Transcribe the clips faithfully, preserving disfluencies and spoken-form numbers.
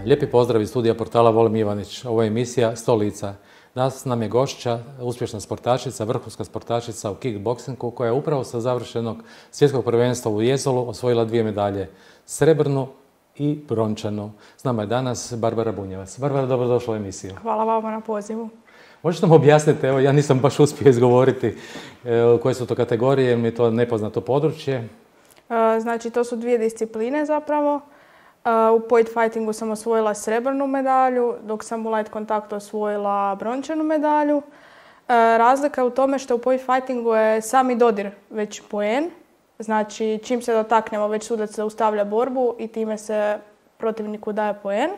Lijepi pozdrav iz studija portala Volim Ivanić. Ovo je emisija sto lica. Danas nam je gošća, uspješna sportašica, vrhunska sportašica u kickboksingu koja je upravo sa završenog svjetskog prvenstva u Jezolu osvojila dvije medalje. Srebrnu i brončanu. S nama je danas Barbara Bunjevac. Barbara, dobrodošla u emisiju. Hvala vama na pozivu. Možeš nam objasniti, evo ja nisam baš uspio izgovoriti e, koje su to kategorije, jer mi je to nepoznato područje. E, znači, to su dvije discipline zapravo. U point fightingu sam osvojila srebrnu medalju, dok sam u light kontaktu osvojila brončanu medalju. Razlika je u tome što u point fightingu je sami dodir već poen. Znači, čim se dotaknemo, već sudac zaustavlja borbu i time se protivniku daje poen.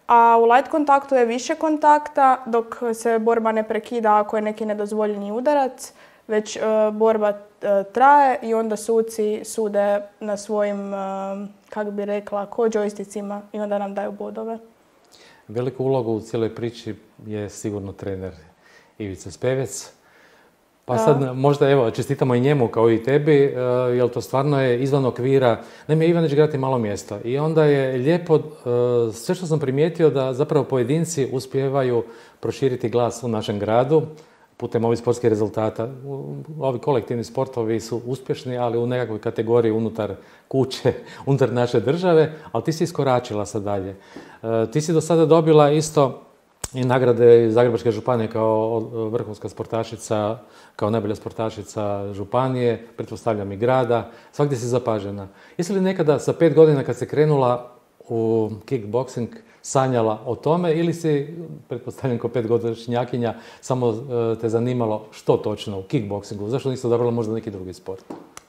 A u light kontaktu je više kontakta, dok se borba ne prekida ako je neki nedozvoljeni udarac, već uh, borba uh, traje i onda suci sude na svojim, uh, kako bi rekla, ko džojsticima i onda nam daju bodove. Veliku ulogu u cijeloj priči je sigurno trener Ivica Spevec. Pa sad uh, možda evo čestitamo i njemu kao i tebi, uh, jer to stvarno je izvan okvira. Naime, Ivanić grad je malo mjesto i onda je lijepo, uh, sve što sam primijetio da zapravo pojedinci uspijevaju proširiti glas u našem gradu putem ovih sportskih rezultata. Ovi kolektivni sportovi su uspješni, ali u nekakvoj kategoriji unutar kuće, unutar naše države, ali ti si iskoračila sad dalje. Uh, ti si do sada dobila isto i nagrade iz Zagrebačke županije kao vrhunska sportašica, kao najbolja sportašica županije, pretpostavljam i grada. Svagdje si zapažena. Jesi li nekada sa pet godina kad se krenula u kickboksing sanjala o tome ili si, pretpostavljam kao petgodišnjakinja, samo te zanimalo što točno u kickboksingu? Zašto nisi odabrala možda neki drugi sport?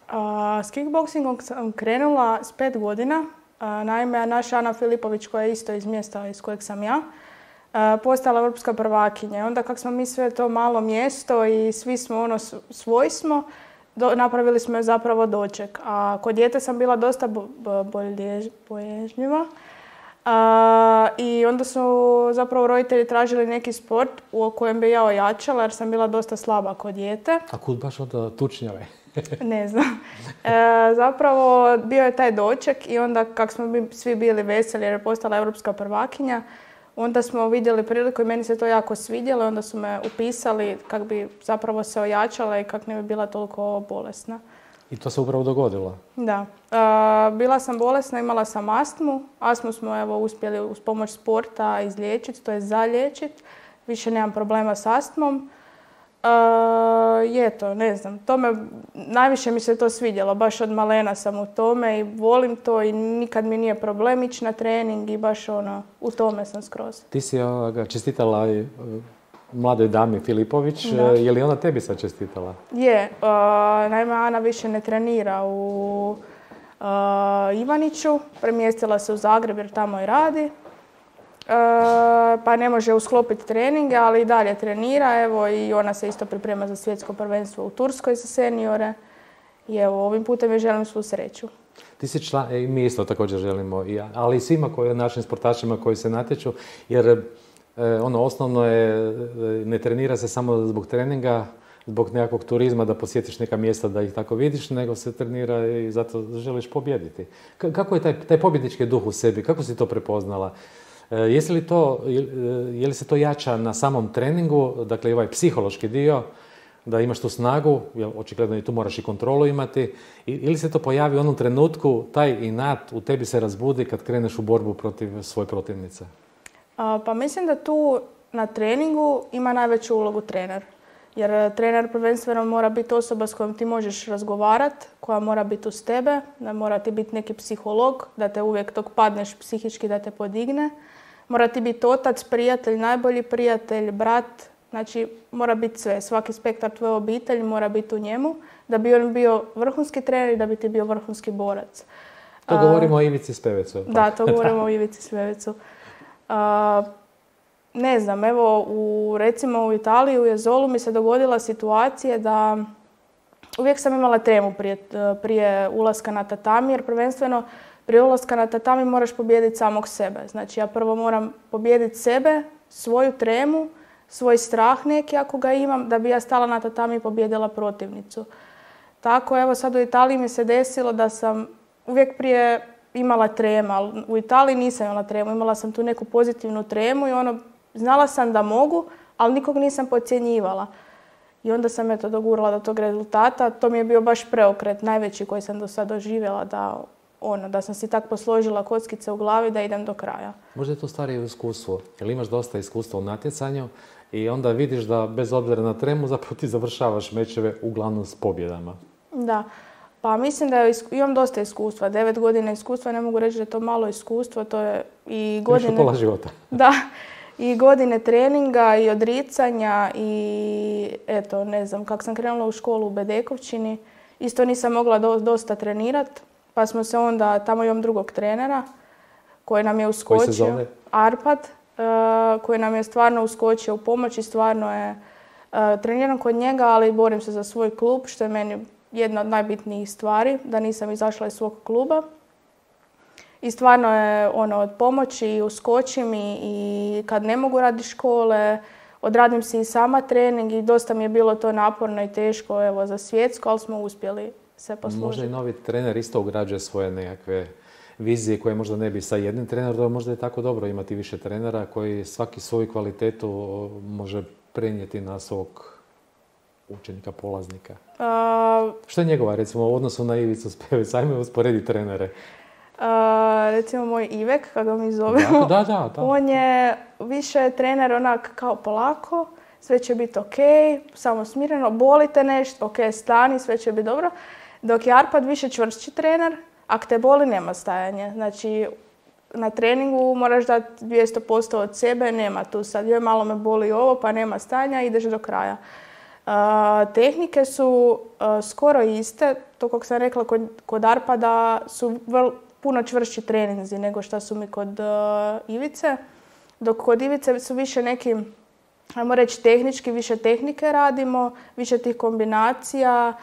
A, s kickboksingom sam krenula s pet godina. A, naime, naša Ana Filipović, koja je isto iz mjesta iz kojeg sam ja, postala europska prvakinja. Onda kako smo mi sve to malo mjesto i svi smo ono svoji smo, do, napravili smo zapravo doček. A kod dijete sam bila dosta bo, bo, boježljiva. A, I onda su zapravo roditelji tražili neki sport u kojem bi ja ojačala jer sam bila dosta slaba kod dijete. A kud baš od tučnjave? Ne znam. E, zapravo bio je taj doček i onda kako smo mi svi bili veseli jer je postala europska prvakinja, onda smo vidjeli priliku i meni se to jako svidjelo. Onda su me upisali kako bi zapravo se ojačala i kako ne bi bila toliko bolesna. I to se upravo dogodilo? Da. E, bila sam bolesna, imala sam astmu. Astmu smo evo uspjeli uz pomoć sporta izliječiti, to je zaliječiti. Više nemam problema s astmom. E, je to, ne znam. To me, najviše mi se to svidjelo. Baš od malena sam u tome i volim to i nikad mi nije problem ići na trening i baš ono, u tome sam skroz. Ti si ovoga, čestitala i mladoj dami Filipović. Da. Je li ona tebi sad čestitala? Je. Uh, naime, Ana više ne trenira u uh, Ivaniću. Premjestila se u Zagreb jer tamo i radi. Uh, pa ne može usklopiti treninge, ali i dalje trenira. Evo, i ona se isto priprema za svjetsko prvenstvo u Turskoj za seniore. I evo, ovim putem joj želim svu sreću. Ti si član, i mi isto također želimo, ali i svima koji, našim sportašima koji se natječu, jer ono osnovno je, ne trenira se samo zbog treninga, zbog nekakvog turizma da posjetiš neka mjesta da ih tako vidiš, nego se trenira i zato želiš pobijediti. Kako je taj, taj pobjednički duh u sebi, kako si to prepoznala? Jesi li to, je li se to jača na samom treningu, dakle ovaj psihološki dio, da imaš tu snagu, jer očigledno i tu moraš i kontrolu imati, ili se to pojavi u onom trenutku, taj inat u tebi se razbudi kad kreneš u borbu protiv svoje protivnice? A, pa mislim da tu na treningu ima najveću ulogu trener. Jer trener prvenstveno mora biti osoba s kojom ti možeš razgovarati, koja mora biti uz tebe, da mora ti biti neki psiholog, da te uvijek dok padneš psihički da te podigne. Mora ti biti otac, prijatelj, najbolji prijatelj, brat. Znači, mora biti sve. Svaki spektar tvoje obitelji mora biti u njemu da bi on bio vrhunski trener i da bi ti bio vrhunski borac. To govorimo o Ivici Spevecu. Da, to govorimo o Ivici Spevecu. A, ne znam, evo, u, recimo u Italiji, u Jezolu mi se dogodila situacija da uvijek sam imala tremu prije, prije ulaska na tatami, jer prvenstveno prije ulaska na tatami moraš pobijediti samog sebe. Znači, ja prvo moram pobijediti sebe, svoju tremu, svoj strah neki ako ga imam, da bi ja stala na tatami i pobijedila protivnicu. Tako, evo sad u Italiji mi se desilo da sam uvijek prije imala trema, ali u Italiji nisam imala tremu. Imala sam tu neku pozitivnu tremu i ono, znala sam da mogu, ali nikog nisam podcjenjivala. I onda sam eto dogurala do tog rezultata. To mi je bio baš preokret, najveći koji sam do sada doživjela, da, ono, da sam si tak posložila kockice u glavi da idem do kraja. Možda je to stvari u iskustvu, jer imaš dosta iskustva u natjecanju i onda vidiš da bez obzira na tremu zapravo ti završavaš mečeve uglavnom s pobjedama. Da, pa mislim da je, imam dosta iskustva. Devet godina iskustva, ne mogu reći da je to malo iskustvo, to je i godine... Nešto pola života. Da. I godine treninga i odricanja i eto, ne znam, kako sam krenula u školu u Bedekovčini, isto nisam mogla do, dosta trenirati, pa smo se onda, tamo imam drugog trenera koji nam je uskočio. Koji se zove? Arpad, uh, koji nam je stvarno uskočio u pomoć i stvarno je uh, treniram kod njega, ali borim se za svoj klub, što je meni jedna od najbitnijih stvari, da nisam izašla iz svog kluba. I stvarno je ono od pomoći, uskočim i, i kad ne mogu raditi škole, odradim si i sama trening i dosta mi je bilo to naporno i teško evo, za svjetsko, ali smo uspjeli se poslužiti. Možda i novi trener isto ugrađuje svoje nekakve vizije koje možda ne bi sa jednim trenerom, možda je tako dobro imati više trenera koji svaki svoju kvalitetu može prenijeti na svog učenika, polaznika. Uh, Što je njegova, recimo, u odnosu na Ivicu Spevec? Ajme usporedi trenere. Uh, recimo moj Ivek, kako mi zovemo, da, da, da. On je više trener onak kao polako, sve će biti ok, samo smireno, bolite nešto, ok, stani, sve će biti dobro. Dok je Arpad više čvršći trener, ako te boli nema stajanja. Znači, na treningu moraš dati dvjesto posto od sebe, nema tu sad, joj malo me boli ovo, pa nema stajanja, ideš do kraja. Uh, tehnike su uh, skoro iste, to kako sam rekla kod, kod Arpada su vrlo puno čvršći treninzi nego što su mi kod uh, Ivice. Dok kod Ivice su više neki, ajmo reći tehnički, više tehnike radimo, više tih kombinacija,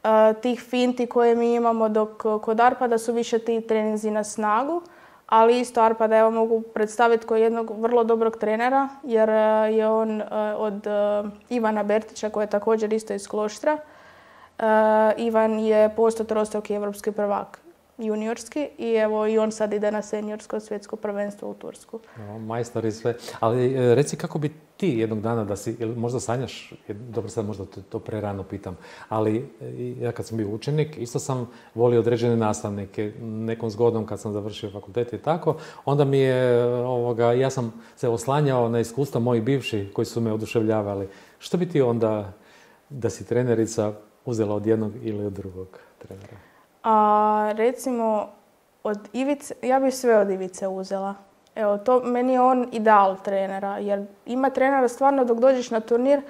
uh, tih finti koje mi imamo, dok kod Arpada su više ti treninzi na snagu. Ali isto Arpada evo mogu predstaviti kao jednog vrlo dobrog trenera, jer je on uh, od uh, Ivana Bertića, koji je također isto iz Kloštra. Uh, Ivan je postotrostruki evropski prvak. Juniorski i evo i on sad ide na seniorsko svjetsko prvenstvo u Tursku. No, majstor i sve. Ali reci kako bi ti jednog dana da si, možda sanjaš, dobro sad možda to prerano pitam, ali ja kad sam bio učenik isto sam volio određene nastavnike. Nekom zgodom kad sam završio fakultet i tako, onda mi je, ovoga, ja sam se oslanjao na iskustva mojih bivših koji su me oduševljavali. Što bi ti onda, da si trenerica, uzela od jednog ili od drugog trenera? A recimo, od Ivice, ja bih sve od Ivice uzela. Evo, to meni je on ideal trenera, jer ima trenera stvarno dok dođeš na turnir,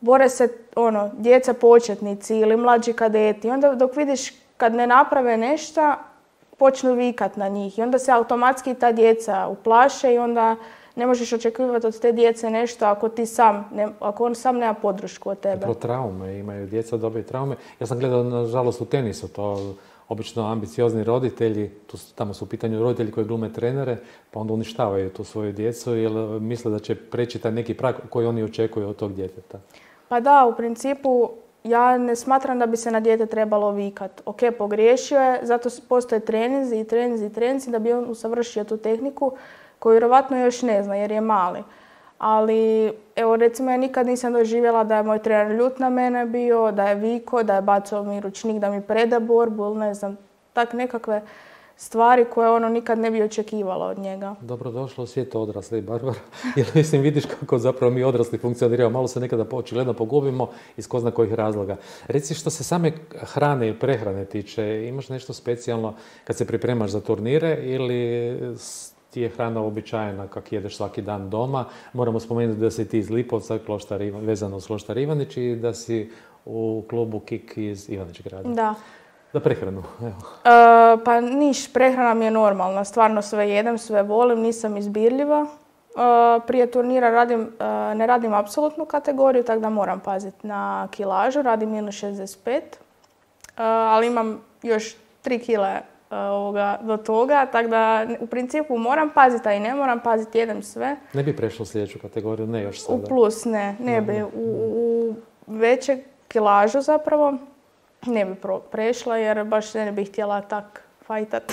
bore se ono, djeca početnici ili mlađi kadeti. I onda dok vidiš kad ne naprave nešto, počnu vikat na njih. I onda se automatski ta djeca uplaše i onda ne možeš očekivati od te djece nešto ako ti sam, ne, ako on sam nema podršku od tebe. Zapravo traume, imaju djeca dobre traume. Ja sam gledao, nažalost, u tenisu, to obično ambiciozni roditelji, tu, tamo su u pitanju roditelji koji glume trenere, pa onda uništavaju tu svoju djecu jer misle da će preći taj neki prag koji oni očekuju od tog djeteta. Pa da, u principu ja ne smatram da bi se na dijete trebalo vikat. Ok, pogriješio je, zato postoje treninzi i treninzi i treninzi da bi on usavršio tu tehniku koju vjerovatno još ne zna jer je mali. Ali, evo recimo ja nikad nisam doživjela da je moj trener ljut na mene bio, da je viko, da je bacao mi ručnik da mi preda borbu ili ne znam, tak nekakve stvari koje ono nikad ne bi očekivala od njega. Dobrodošla u svijetu odraslih, Barbara. Jer mislim, vidiš kako zapravo mi odrasli funkcioniramo. Malo se nekada očigledno pogubimo iz ko zna kojih razloga. Reci, što se same hrane i prehrane tiče, imaš nešto specijalno kad se pripremaš za turnire ili ti je hrana uobičajena kak jedeš svaki dan doma? Moramo spomenuti da si ti iz Lipovca, Kloštar, vezano uz Kloštar Ivanić i da si u klubu Kik iz Ivanić grada. Da. Za prehranu, evo. E, pa niš, prehrana mi je normalna. Stvarno sve jedem, sve volim, nisam izbirljiva. E, prije turnira radim, e, ne radim apsolutnu kategoriju, tako da moram paziti na kilažu. Radim minus šezdeset pet, e, ali imam još tri kile e, ovoga, do toga, tako da u principu moram paziti, a i ne moram paziti, jedem sve. Ne bi prešlo u sljedeću kategoriju, ne još sada? U plus ne, ne bi. U, u veće kilažu zapravo ne bi prešla jer baš ne bih htjela tak fajtat.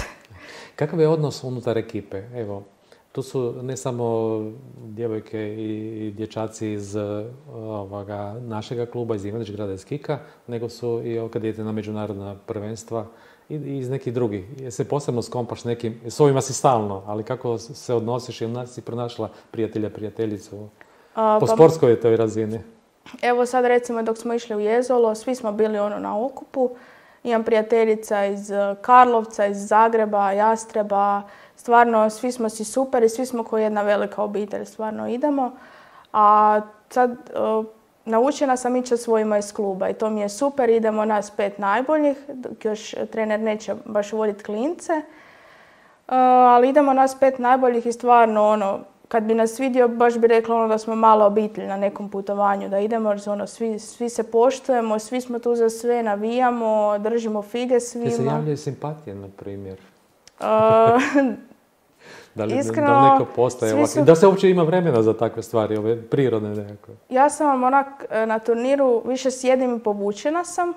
Kakav je odnos unutar ekipe? Evo, tu su ne samo djevojke i dječaci iz ovoga, našega kluba, iz Ivanić grada iz Kika, nego su i kad idete na međunarodna prvenstva i iz nekih drugih. Je se posebno skompaš nekim, s ovima si stalno, ali kako se odnosiš i si pronašla prijatelja, prijateljicu A, po pa, sportskoj toj razini? Evo sad recimo dok smo išli u Jezolo, svi smo bili ono na okupu. Imam prijateljica iz Karlovca, iz Zagreba, Jastreba. Stvarno, svi smo si super i svi smo kao jedna velika obitelj. Stvarno idemo. A sad uh, naučena sam ići sa svojima iz kluba i to mi je super. Idemo nas pet najboljih, dok još trener neće baš voditi klince. Uh, ali idemo nas pet najboljih i stvarno ono, kad bi nas vidio, baš bi rekla ono da smo mala obitelj na nekom putovanju, da idemo, jer ono, svi, svi se poštujemo, svi smo tu za sve, navijamo, držimo fige svima. Ti se javljaju simpatije, na primjer? Uh, da, li, iskreno, da li neko postaje ovako? su... Da se uopće ima vremena za takve stvari, ove prirodne nekako? Ja sam vam onak na turniru, više sjedim i povučena sam,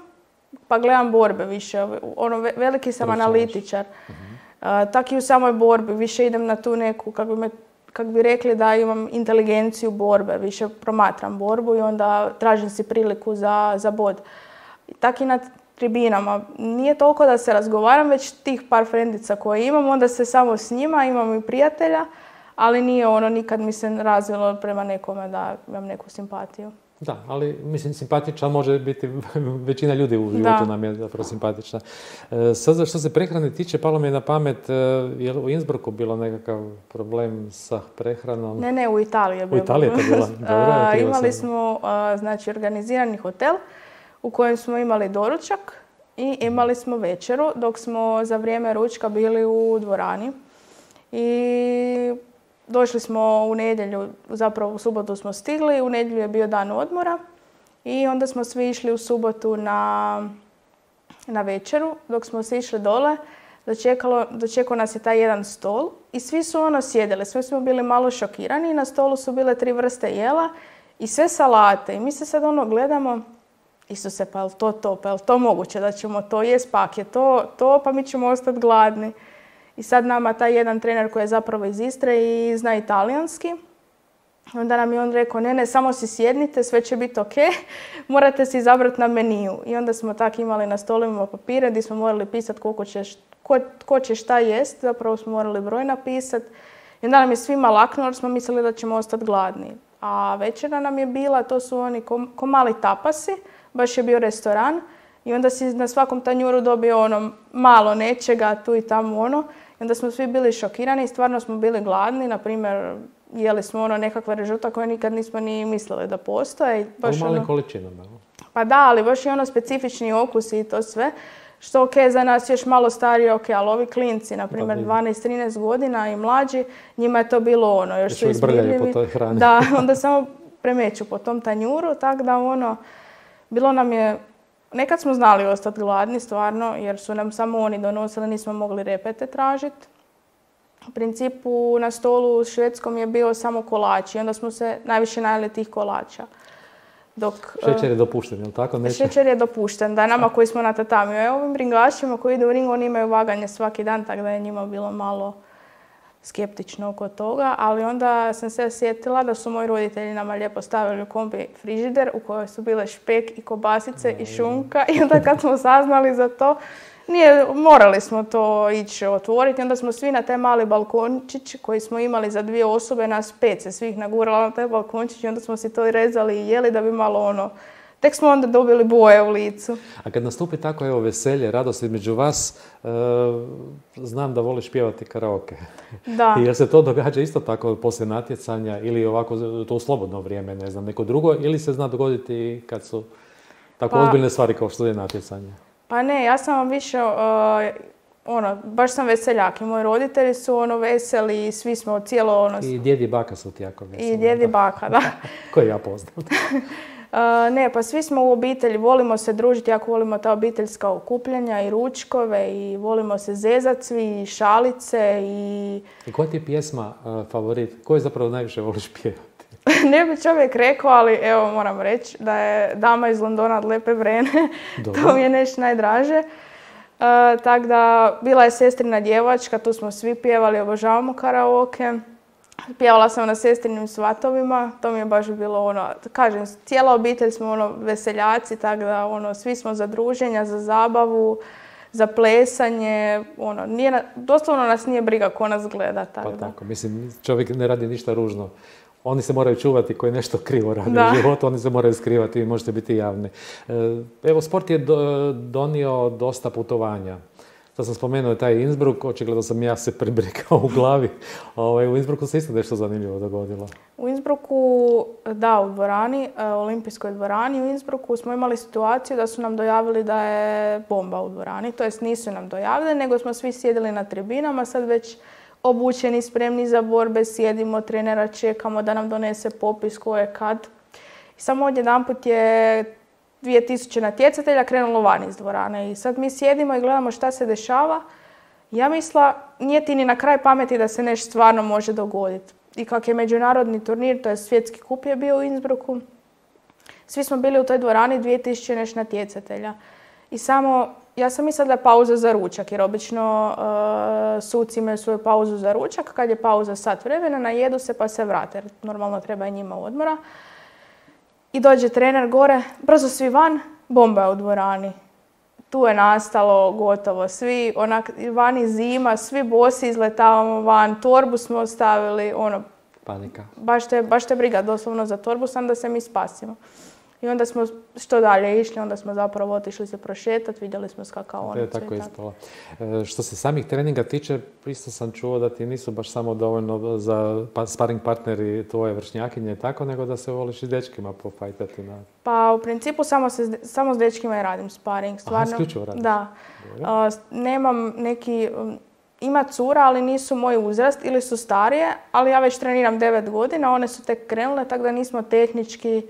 pa gledam borbe više. Ono, veliki sam Pročeš. analitičar. Uh-huh. Uh, tak i u samoj borbi, više idem na tu neku, kako bi me kako bi rekli da imam inteligenciju borbe, više promatram borbu i onda tražim si priliku za, za bod. Tako i na tribinama. Nije toliko da se razgovaram, već tih par frendica koje imam, onda se samo s njima, imam i prijatelja, ali nije ono, nikad mi se razvilo prema nekome da imam neku simpatiju. Da, ali mislim simpatična može biti, većina ljudi u životu da. nam je zapravo simpatična. E, sad što se prehrane tiče, palo mi je na pamet, je li u Innsbrucku bilo nekakav problem sa prehranom? Ne, ne, u Italiji je bilo. U Italiji je to bilo? Dobro, a, imali sam. smo a, znači, organizirani hotel u kojem smo imali doručak i imali smo večeru dok smo za vrijeme ručka bili u dvorani. I došli smo u nedjelju, zapravo u subotu smo stigli, u nedjelju je bio dan odmora i onda smo svi išli u subotu na, na večeru. Dok smo se išli dole, dočekalo, dočekao nas je taj jedan stol i svi su ono sjedili, svi smo bili malo šokirani i na stolu su bile tri vrste jela i sve salate. I mi se sad ono gledamo, Isuse, pa je li to to, pa je li to moguće da ćemo to jest, pa je to, to, pa mi ćemo ostati gladni. I sad nama taj jedan trener koji je zapravo iz Istre i zna italijanski, onda nam je on rekao, ne, ne, samo si sjednite, sve će biti ok, morate si izabrati na meniju. I onda smo tako imali na stolovima papire gdje smo morali pisati koliko će, ko, ko će šta jest, zapravo smo morali broj napisati. I onda nam je svima laknulo jer smo mislili da ćemo ostati gladni. A večera nam je bila, to su oni ko, ko mali tapasi, baš je bio restoran. I onda si na svakom tanjuru dobio ono malo nečega, tu i tamo ono. I onda smo svi bili šokirani i stvarno smo bili gladni. Naprimjer, jeli smo ono nekakva režuta koje nikad nismo ni mislili da postoje. U malim ono, količinama. Pa da, ali baš i ono specifični okus i to sve. Što ok, za nas još malo starije, ok, ali ovi klinci, na primjer dvanaest trinaest godina i mlađi, njima je to bilo ono, još, još su izbirljivi. Po toj hrani. Da, onda samo premeću po tom tanjuru, tako da ono, bilo nam je, nekad smo znali ostati gladni stvarno, jer su nam samo oni donosili, nismo mogli repete tražiti. U principu na stolu u švedskom je bio samo kolač i onda smo se najviše najeli tih kolača. Dok, šećer je dopušten, je li tako? Neće? Šećer je dopušten, da, nama koji smo na tatamiju. Evo ovim ringašima koji idu u ring, oni imaju vaganje svaki dan, tako da je njima bilo malo skeptično oko toga. Ali onda sam se sjetila da su moji roditelji nama lijepo stavili u kombi frižider u kojoj su bile špek i kobasice i šunka. I onda kad smo saznali za to, nije, morali smo to ići otvoriti. Onda smo svi na taj mali balkončić koji smo imali za dvije osobe, nas pet se svih nagurala na taj balkončić i onda smo si to rezali i jeli da bi malo ono, tek smo onda dobili boje u licu. A kad nastupi tako evo veselje, radost između vas, e, znam da voliš pjevati karaoke. Da. Jer se to događa isto tako poslije natjecanja ili ovako to u slobodno vrijeme, ne znam, neko drugo, ili se zna dogoditi kad su tako pa, ozbiljne stvari kao što je natjecanje? Pa ne, ja sam vam više, uh, ono, baš sam veseljak i moji roditelji su ono veseli i svi smo cijelo ono... I djed i baka su ti jako veseli. I djed i baka, da. Koje ja poznam. Uh, ne, pa svi smo u obitelji, volimo se družiti, jako volimo ta obiteljska okupljanja i ručkove i volimo se zezat svi i šalice i... I koja ti je pjesma uh, favorit? Koju zapravo najviše voliš pjevati? Ne bi čovjek rekao, ali evo moram reći da je Dama iz Londona od Lepe Vrene. To mi je nešto najdraže. tako da, bila je sestrina djevačka, tu smo svi pjevali, obožavamo karaoke. Pjevala sam na sestrinim svatovima, to mi je baš bilo ono, kažem, cijela obitelj smo ono veseljaci, tako da ono, svi smo za druženja, za zabavu, za plesanje, ono, nije, doslovno nas nije briga ko nas gleda. Tako pa da. tako, mislim, čovjek ne radi ništa ružno. Oni se moraju čuvati koji nešto krivo rade da. u životu, oni se moraju skrivati i možete biti javni. Evo, sport je do, donio dosta putovanja. Sad sam spomenuo taj Innsbruck, očigledno sam ja se prebrikao u glavi. Ovaj, u Innsbrucku se isto nešto zanimljivo dogodilo. U Innsbrucku, da, u dvorani, olimpijskoj dvorani u Innsbrucku smo imali situaciju da su nam dojavili da je bomba u dvorani. To jest nisu nam dojavili, nego smo svi sjedili na tribinama, sad već obučeni, spremni za borbe, sjedimo, trenera čekamo da nam donese popis ko je kad. I samo odjedanput je dvije tisuće natjecatelja krenulo van iz dvorane i sad mi sjedimo i gledamo šta se dešava. Ja misla, nije ti ni na kraj pameti da se nešto stvarno može dogoditi. I kak je međunarodni turnir, to je svjetski kup je bio u Innsbrucku, svi smo bili u toj dvorani dvije tisuće nešto natjecatelja. I samo, ja sam mislila da je pauza za ručak, jer obično uh, suci imaju svoju pauzu za ručak, kad je pauza sat vremena, najedu se pa se vrate, jer normalno treba i njima odmora. I dođe trener gore, brzo svi van, bomba je u dvorani. Tu je nastalo gotovo svi, onak, vani zima, svi bosi izletavamo van, torbu smo ostavili, ono... Panika. Baš te, baš te briga doslovno za torbu, sam da se mi spasimo. I onda smo što dalje išli, onda smo zapravo otišli se prošetati, vidjeli smo skakaonicu. To je tako ispalo. E, što se samih treninga tiče, isto sam čuo da ti nisu baš samo dovoljno za pa, sparing partneri tvoje vršnjakinje i tako, nego da se voliš i dečkima pofajtati. Na... Pa u principu samo, se, samo s dečkima i radim sparing. Stvarno, aha, isključivo radiš? Da. A, nemam neki... Ima cura, ali nisu moj uzrast ili su starije, ali ja već treniram devet godina, one su tek krenule, tako da nismo tehnički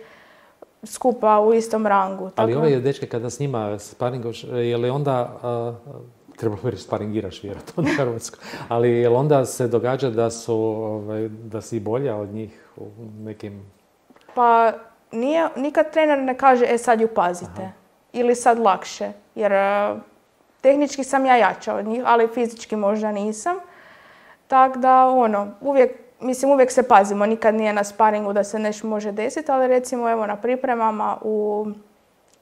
skupa u istom rangu. Ali tako... ove dečke kada s njima sparingaš, je li onda, uh, treba reći sparingiraš vjerojatno na hrvatsko, ali je li onda se događa da, su, ovaj, da si bolja od njih u nekim... Pa nije, nikad trener ne kaže, e sad ju pazite, aha, ili sad lakše, jer uh, tehnički sam ja jača od njih, ali fizički možda nisam. Tako da, ono, uvijek Mislim, uvijek se pazimo, nikad nije na sparingu da se nešto može desiti, ali recimo evo na pripremama, u...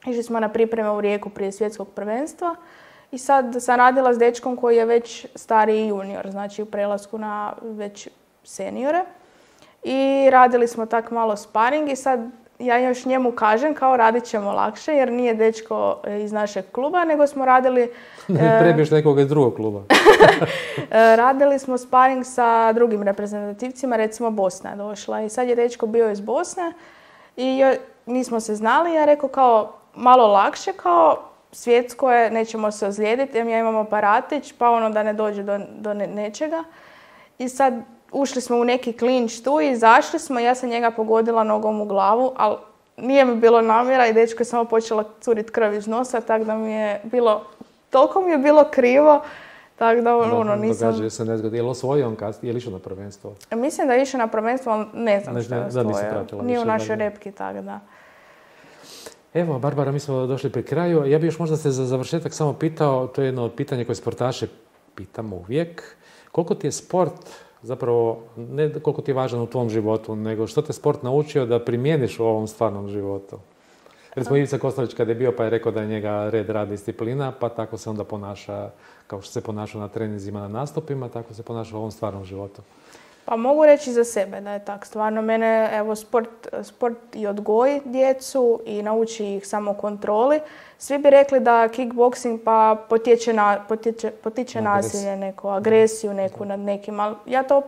išli smo na pripreme u Rijeku prije svjetskog prvenstva i sad sam radila s dečkom koji je već stariji junior, znači u prelasku na već seniore. I radili smo tak malo sparing i sad ja još njemu kažem kao radit ćemo lakše jer nije dečko iz našeg kluba, nego smo radili... Ne prebiješ nekoga iz drugog kluba. Radili smo sparing sa drugim reprezentativcima, recimo Bosna je došla i sad je dečko bio iz Bosne i nismo se znali, ja rekao kao malo lakše, kao svjetsko je, nećemo se ozlijediti, jer ja imam aparatić, pa ono da ne dođe do, do nečega. I sad ušli smo u neki klinč tu i izašli smo, ja sam njega pogodila nogom u glavu, ali nije mi bilo namjera i dečko je samo počela curiti krv iz nosa, tako da mi je bilo, toliko mi je bilo krivo, tako da ono nisam... Događaju se nezgodi. Je li osvojio on kasnije? Je li išao na prvenstvo? Mislim da je išao na prvenstvo, ali ne znam ne, što je osvojio. Nije u našoj repki, tako da. Evo, Barbara, mi smo došli pri kraju. Ja bih još možda se za završetak samo pitao, to je jedno od pitanja koje sportaše pitamo uvijek. Koliko ti je sport, zapravo, ne koliko ti je važan u tvom životu, nego što te sport naučio da primijeniš u ovom stvarnom životu? Recimo, Ivica Kostelić kad je bio pa je rekao da je njega red, rad, disciplina, pa tako se onda ponaša, kao što se ponaša na treninzima, na nastupima, tako se ponaša u ovom stvarnom životu. Pa mogu reći za sebe da je tako. Stvarno, mene, evo, sport, sport i odgoji djecu i nauči ih samokontroli. Svi bi rekli da kickboxing pa potječe na, potječe, potiče nasilje neko, agresiju neku nad nekim, ali ja to,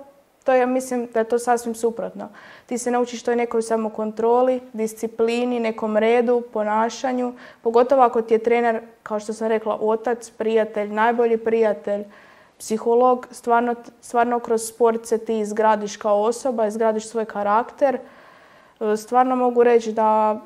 to ja mislim da je to sasvim suprotno. Ti se naučiš toj nekoj samokontroli, disciplini, nekom redu, ponašanju, pogotovo ako ti je trener, kao što sam rekla, otac, prijatelj, najbolji prijatelj, psiholog, stvarno, stvarno kroz sport se ti izgradiš kao osoba, izgradiš svoj karakter. Stvarno mogu reći da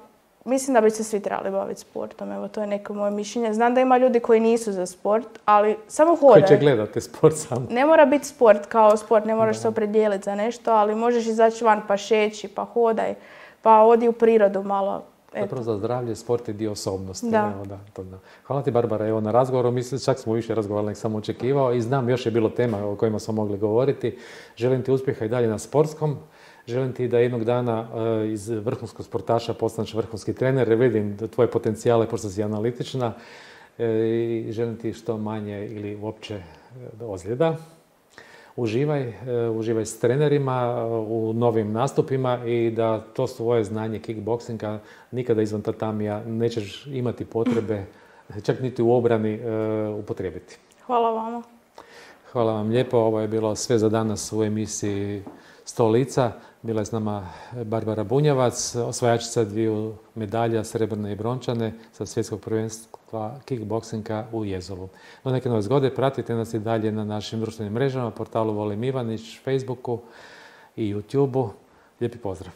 mislim da bi se svi trebali baviti sportom. Evo, to je neko moje mišljenje. Znam da ima ljudi koji nisu za sport, ali samo hodaj. Koji će gledati sport sam. Ne mora biti sport kao sport, ne moraš da. se opredijeliti za nešto, ali možeš izaći van pa šeći, pa hodaj, pa odi u prirodu malo. Zapravo za zdravlje, sport je dio osobnosti. Da. Evo, da, to da. Hvala ti, Barbara, evo, na razgovoru. Mislim, čak smo više razgovarali nego sam očekivao i znam, još je bilo tema o kojima smo mogli govoriti. Želim ti uspjeha i dalje na sportskom. Želim ti da jednog dana uh, iz vrhunskog sportaša postaneš vrhunski trener. Vidim da tvoje potencijale, pošto si analitična. E, I želim ti što manje ili uopće ozljeda. Uživaj, uživaj s trenerima u novim nastupima i da to svoje znanje kickboksinga nikada izvan tatamija nećeš imati potrebe, čak niti u obrani, upotrijebiti. Hvala vama. Hvala vam lijepo. Ovo je bilo sve za danas u emisiji sto lica. Bila je s nama Barbara Bunjevac, osvajačica dviju medalja, srebrne i brončane, sa svjetskog prvenstva kickboksinga u Jezovu. Do neke nove zgode pratite nas i dalje na našim društvenim mrežama, portalu Volim Ivanić, Facebooku i YouTubeu. Lijepi pozdrav!